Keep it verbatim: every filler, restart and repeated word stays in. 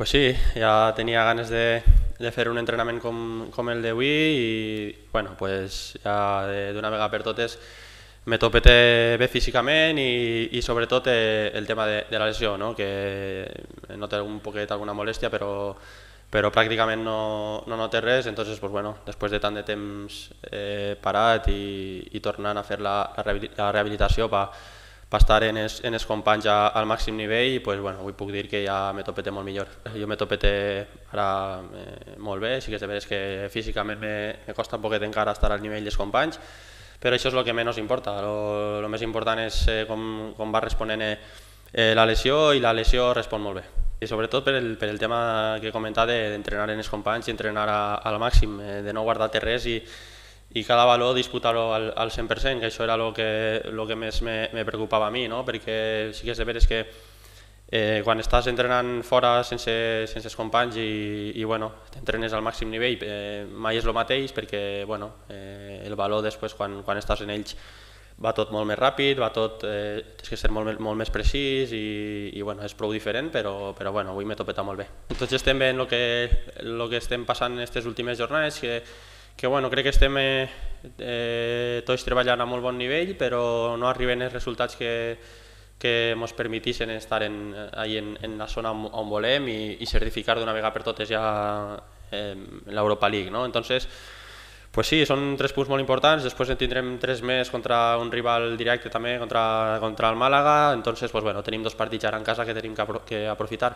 Pues sí, ja tenia ganes de, de fer un entrenament com, com el d'avui i bueno, pues ja d'una vegada per totes me topete bé físicament i, i sobretot eh, el tema de, de la lesió, no? Que noto un poquet alguna molèstia però, però pràcticament no, no noto res, entonces pues bueno, després de tant de temps eh, parat i, i tornant a fer la, la rehabilitació pa, per estar en els, en els companys a, al màxim nivell, pues, bueno, avui puc dir que ja me topete molt millor. Jo me topete ara eh, molt bé, sí que és de veres que físicament me, me costa un poquet encara estar al nivell dels companys, però això és el que menys importa. El més important és eh, com, com va responent eh, la lesió, i la lesió respon molt bé. I sobretot per el, per el tema que he comentat d'entrenar en els companys i entrenar a, al màxim, eh, de no guardar-te res i, i cada valor disputar-ho al, al cent per cent, que això era el que, lo que més me, me preocupava a mi, no? Perquè sí que és de veres que eh, quan estàs entrenant fora sense, sense els companys i, i bueno, t'entrenes al màxim nivell, eh, mai és el mateix perquè bueno, eh, el valor després quan, quan estàs en ells va tot molt més ràpid, va tot, eh, tens que ser molt, molt més precís i, i bueno, és prou diferent, però, però bueno, avui m'he topet molt bé. Tots estem bé en el que, el que estem passant en aquestes últimes jornades, que que bueno, crec que estem eh, eh, tots treballant a molt bon nivell, però no arriben els resultats que, que ens permetissin estar en, en, en la zona on volem i, i certificar d'una vegada per totes ja eh, l'Europa League, no? Entonces, pues sí, són tres punts molt importants, després en tindrem tres més contra un rival directe també, contra, contra el Màlaga, entonces pues bueno, tenim dos partits ara en casa que tenim que, apro que aprofitar.